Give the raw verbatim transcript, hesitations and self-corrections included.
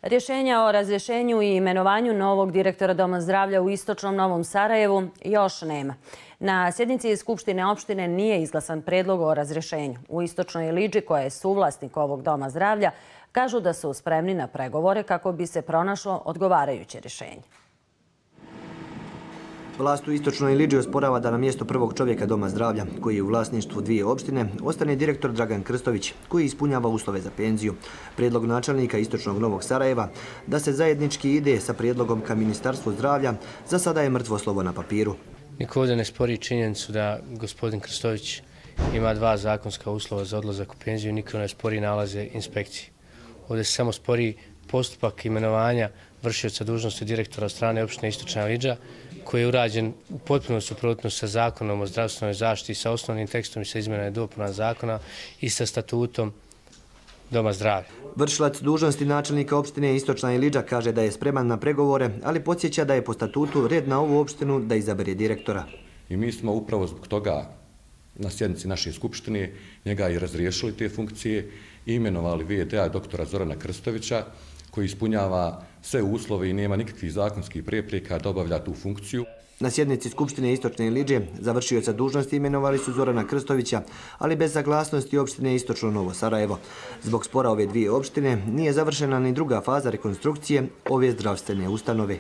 Rješenja o razrješenju i imenovanju novog direktora Doma zdravlja u istočnom Novom Sarajevu još nema. Na sjednici Skupštine opštine nije izglasan predlog o razrješenju. U istočnoj Iliđi, koja je suvlasnik ovog Doma zdravlja, kažu da su spremni na pregovore kako bi se pronašlo odgovarajuće rješenje. Vlast u istočnoj Iliđi osporava da na mjesto prvog čovjeka Doma zdravlja, koji je u vlasništvu dvije opštine, ostane direktor Dragan Krstović, koji ispunjava uslove za penziju. Prijedlog načelnika istočnog Novog Sarajeva da se zajednički ide sa prijedlogom ka Ministarstvu zdravlja za sada je mrtvo slovo na papiru. Niko ovdje ne spori činjenicu da gospodin Krstović ima dva zakonska uslova za odlazak u penziju, niko ne spori nalaze inspekcije. Ovdje se samo spori postupak imenovanja vršioca dužnosti direktora od strane opštine Istočna Iliđa, koji je urađen u potpuno suprotno sa zakonom o zdravstvenoj zaštiti, sa osnovnim tekstom i sa izmjenama i dopunama zakona i sa statutom Doma zdravlja. Vršilac dužnosti načelnika opštine Istočna Iliđa kaže da je spreman na pregovore, ali podsjeća da je po statutu red na ovu opštinu da izabere direktora. I mi smo upravo zbog toga na sjednici naše skupštine njega i razriješili te funkcije i imenovali ve de a doktora Zorana Krstovića, koji ispunjava sve uslove i nema nikakvih zakonskih prepreka da obavlja tu funkciju. Na sjednici Skupštine Istočne Iliđe za vršioca dužnosti imenovali su Zorana Krstovića, ali bez saglasnosti opštine Istočno Novo Sarajevo. Zbog spora ove dvije opštine nije završena ni druga faza rekonstrukcije ove zdravstvene ustanove.